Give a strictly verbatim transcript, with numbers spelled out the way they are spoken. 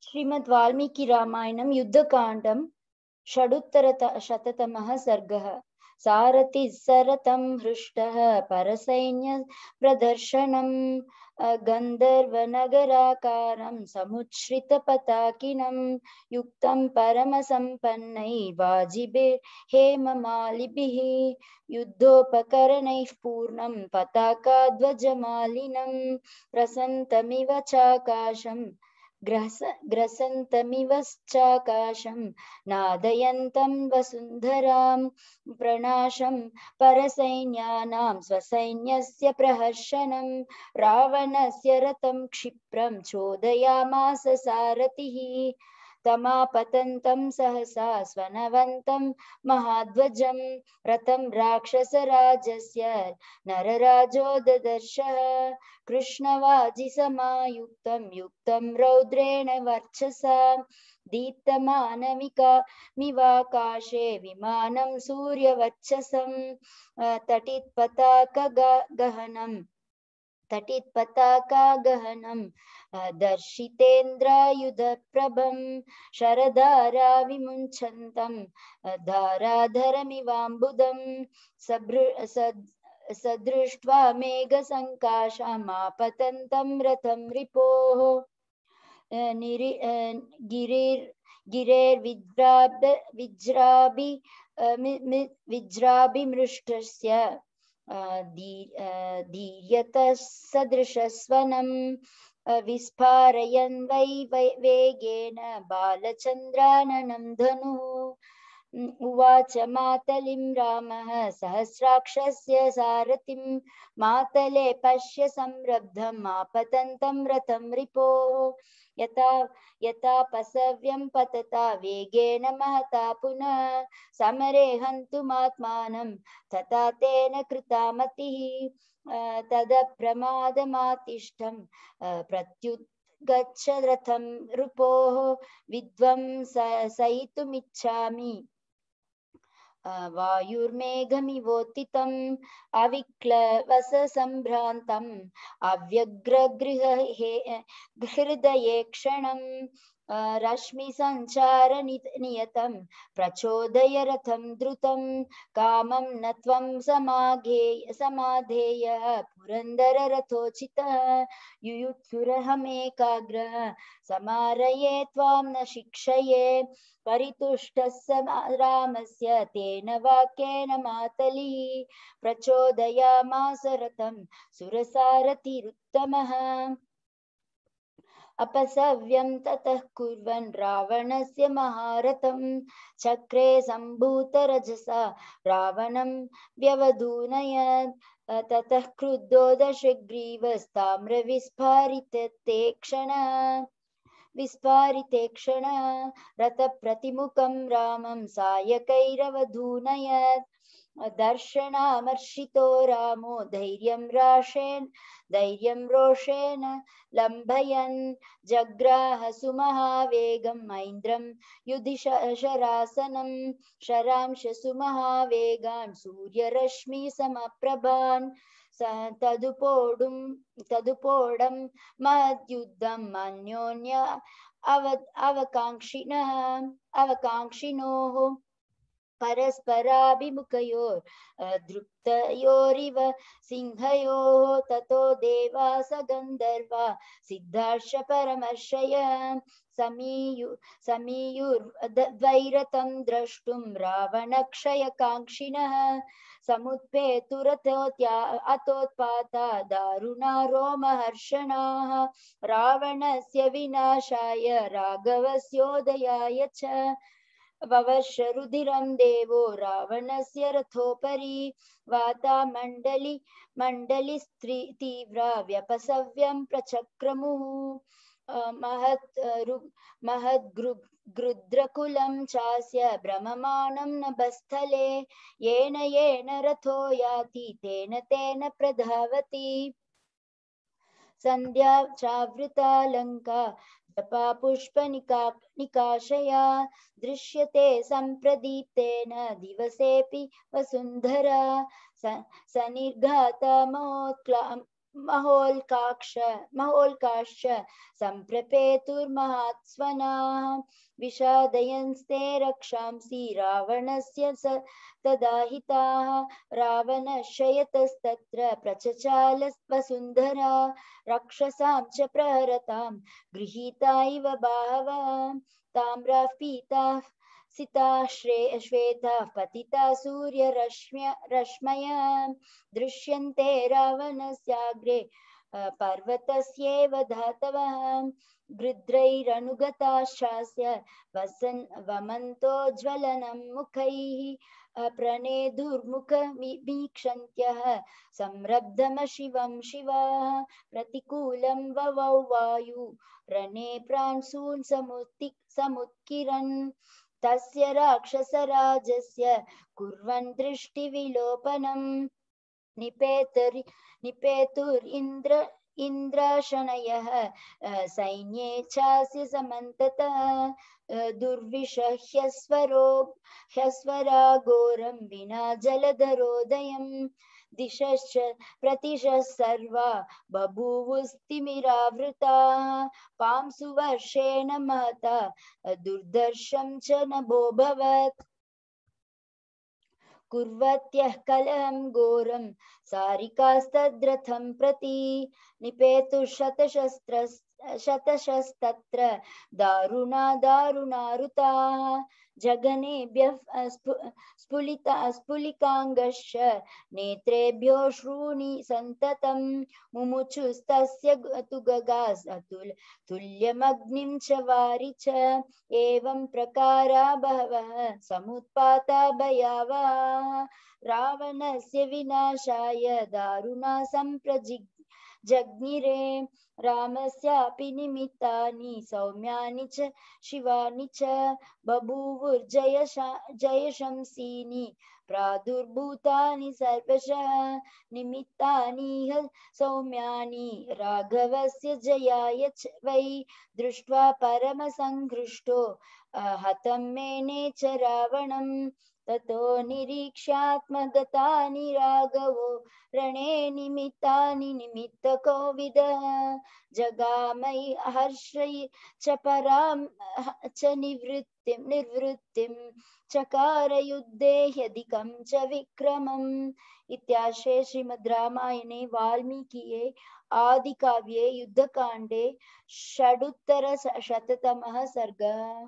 श्रीमद् वाल्मीकि रामायणं युद्धकाण्डं षडुत्तरशततमः सर्गः। सारथिः सरथं हृष्टः परसैन्यप्रदर्शनं गन्धर्वनगराकारं समुच्छ्रितपताकिनं युक्तं परमसम्पन्नैर्वाजिभिर्हेममालिभिः युद्धोपकरणैः पूर्णं पताकाध्वजमालिनं प्रसन्तमिव चाकाशं ग्रस ग्रसन्तमिवश्चाकाशं नादयन्तं वसुन्धरां प्रणाशं परसैन्यानां स्वसैन्यस्य प्रहर्षनं रावणस्य रथं क्षिप्रं चोदयामास सारथिः तमापतन्तं सहसा स्वनवन्तं महाध्वजं रथं राक्षसराजस्य नरराजो ददर्शः कृष्णवाजिसमायुक्तं युक्तं रौद्रेण वर्चसा दीप्तमानमिकामिवाकाशे विमानं सूर्यवक्षसं तटित्पताकगहनं तटित्पताकागहनं दर्शितेन्द्रायुधप्रभं शरधारा विमुञ्चन्तं धाराधरमिवाम्बुदं सदृष्ट्वा मेघसङ्काशमापतन्तं रथं रिपोः गिरेर्विज्राभि विज्राभिमृष्टस्य धीर्यतः सदृशस्वनं विस्फारयन् वै वेगेन बालचन्द्राननं धनुः उवाच मातलिं रामः सहस्राक्षस्य सारथिं मातले पश्य संरब्धम् आपतन्तं रथं रिपोः यथा यथा पसव्यं पतता वेगेन महता पुनः समरे हन्तुमात्मानं तथा तेन कृता मतिः तदप्रमादमातिष्ठं प्रत्युद्गच्छ रथं रिपोः विध्वंसयितुमिच्छामि वायुर्मेघमिवोत्थितम् अविक्लवसम्भ्रान्तम् अव्यग्रगृहृदये क्षणम् रश्मिसञ्चारनियतं प्रचोदय रथं द्रुतं कामं न त्वं समाघेय समाधेयः पुरन्दररथोचितः युयुत्सुरहमेकाग्रः समारये त्वां न शिक्षये परितुष्टः स रामस्य तेन वाक्येन मातलिः प्रचोदयामास रथं सुरसारथिरुत्तमः अपसव्यं ततः कुर्वन् रावणस्य महारथं चक्रे सम्भूतरजसा रावणं व्यवधूनयत् ततः क्रुद्धो दशग्रीवस्ताम्रविस्फारिते क्षणः विस्फारिते क्षणः रथप्रतिमुखं रामं सायकैरवधूनयत् दर्शनामर्षितो रामो धैर्यं राशेन धैर्यं रोषेण लम्भयन् जग्राह सुमहावेगं मैन्द्रं युधिशरासनं शरांश सुमहावेगान् सूर्यरश्मिसमप्रभान् तदुपोडुं तदुपोडं महद्युद्धम् अन्योन्य अव अवकाङ्क्षिणः अवकाङ्क्षिणोः परस्पराभिमुखयोर् दृप्तयोरिव सिंहयोः ततो देवास गन्धर्वा सिद्धार्ष परमर्षय समीयु समीयुर्द्वैरथं द्रष्टुं रावणक्षयकाङ्क्षिणः समुत्पेतुरथोत्या अतोत्पाता दारुणा रोमहर्षणाः रावणस्य विनाशाय राघवस्योदयाय च ववर्ष रुधिरं देवो रावणस्य रथोपरि वातामण्डलि मण्डलिस्त्री तीव्रा व्यपसव्यं प्रचक्रमुः महत् महद्गृद्रकुलं चास्य भ्रममाणं नभस्थले येन येन रथो याति तेन तेन प्रधावति सन्ध्या चावृता लङ्का जपा पुष्पनिकाशया दृश्यते सम्प्रदीप्तेन दिवसेऽपि वसुन्धरा सनिर्घाता महोल्काक्ष महोल्काश्च सम्प्रपेतुर्महात्स्वनाः विषादयन्स्ते रक्षांसि रावणस्य स तदाहिताः रावणश्च प्रचचाल वसुन्धरा रक्षसां च प्रहरतां गृहीता इव बाहवः ताम्राः पीताः सिता श्रे श्वेताः पतिता सूर्यरश्म्य रश्मयः दृश्यन्ते रावणस्याग्रे पर्वतस्येव धातवः गृध्रैरनुगताश्चास्य वसन् वमन्तोज्ज्वलनं मुखैः प्रणेदुर्मुखमीक्षन्त्यः संरब्धमशिवं शिवाः प्रतिकूलं ववौ वायु रणे प्रांशून् समुत्ति समुत्किरन् तस्य राक्षसराजस्य कुर्वन् दृष्टिविलोपनम् निपेतुर् निपेतुरिन्द्र इन्द्राशनयः सैन्ये चास्य समन्ततः दुर्विषह्यस्वरो ह्यस्वराघोरं विना जलधरोदयम् दिशश्च प्रतिशः सर्वा बभूवुस्तिमिरावृताः पांसुवर्षेण महता दुर्दर्शं च नभोऽभवत् कुर्वत्यः कलहं घोरं सारिकास्तद्रथं प्रति निपेतुः शतशस्तत्र दारुणा दारुणारुताः जघनेभ्यः स्फुलिता स्फुलिकाङ्गश्च नेत्रेभ्यो श्रूणि सन्ततं मुमुचुस्तस्य तु गगास् अतुल तुल्यमग्निं च वारि च एवं प्रकारा बहवः समुत्पाता भयावहाः रावणस्य विनाशाय दारुणा सम्प्रजिग् जज्ञिरे रामस्यापि निमित्तानि सौम्यानि च शिवानि च बभूवुर्जयशा जयशंसीनि प्रादुर्भूतानि सर्वशः निमित्तानि ह सौम्यानि राघवस्य जयाय च वै दृष्ट्वा परमसङ्घृष्टो हतं मेने च रावणम् ततो निरीक्ष्यात्मगतानि राघवो रणे निमित्तानि निमित्तकोविदः जगामयि हर्षयि च परां च निवृत्तिं निर्वृत्तिं चकार युद्धे ह्यधिकं च विक्रमम् इत्यार्षे श्रीमद् रामायणे वाल्मीकिये आदिकाव्ये युद्धकाण्डे षडुत्तरशततमः सर्गः।